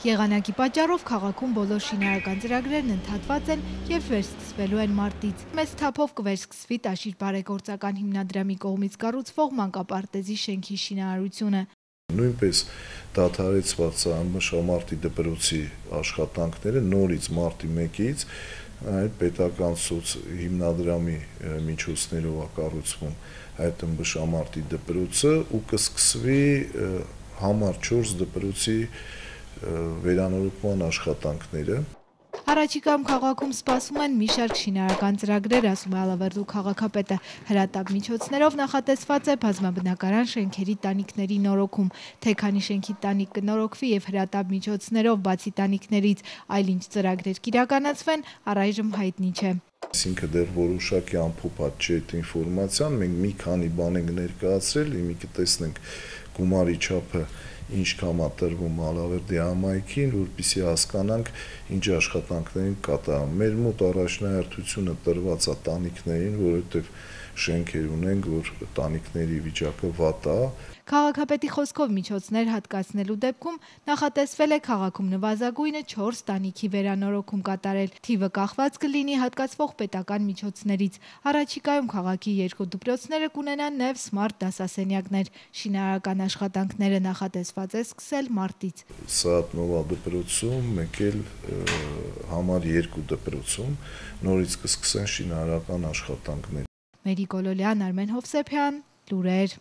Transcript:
Եղանակի պատճառով քաղաքում բոլոր շինարարական ծրագրերն ընդհատված են եւ վերսկսվելու են մարտից։ Մեծ թափով կվերսկսվի Տաշիր բարեգործական հիմնադրամի կողմից կառուցվող մանկապարտեզի շենքի շինարարությունը։ Նույնպես դադարեցված ՄՇՄԱՐՏ-ի դպրոցի աշխատանքները նորից մարտի 1-ից այդ պետական սոց հիմնադրամի միջոցներով է կառուցվում այդ ՄՇՄԱՐՏ-ի դպրոցը ու կսկսվի համար 4 դպրոցի վերանորոգման աշխատանքները։ Առաջիկայում քաղաքում սպասում են մի շարք շինարարական ծրագրեր, ասում է Ալավերդու քաղաքապետը։ Հրատապ միջոցներով նախատեսված է բազմաբնակարան շենքերի տանիքների նորոգում։ Թե քանի շենքի տանիք կնորոգվի եւ հրատապ միջոցներով բացի տանիքներից այլ ինչ ծրագրեր կիրականացվեն, առայժմ հայտնի չէ։ Այսինքն դեռ որոշակի ամփոփած չէ այդ ինֆորմացիան, մենք մի քանի բան ենք ներկայացրել, մի կտեսնենք գումարի չափը ինչքան է տրվում Ալավերդի համայնքին, որպեսզի հասկանանք ինչ աշխատանքներ են կատարում։ Մեր մոտ առաջնահերթությունը տրված է տանիքներին, որովհետև շենքեր ունենք, որ տանիքների վիճակը վատ է։ Քաղաքապետի խոսքով միջոցներ հատկացնելու դեպքում նախատեսվել է քաղաքում նվազագույնը 4 տանիքի վերանորոգում կատարել։ Թիվը կախված կլինի հատկացվող պետական միջոցներից։ Առաջիկայում քաղաքի 2 դպրոցները կունենան նաև սմարթ դասասենյակներ։ Շինարարական աշխատանքները նախատեսված է սկսել մարտից։ Սաատնովա դպրոցում, մեկ էլ համար 2 դպրոցում նորից կսկսեն շինարարական աշխատանքներ։ Մերի Կոլոլյան, Արմեն Հովսեփյան, լուրեր։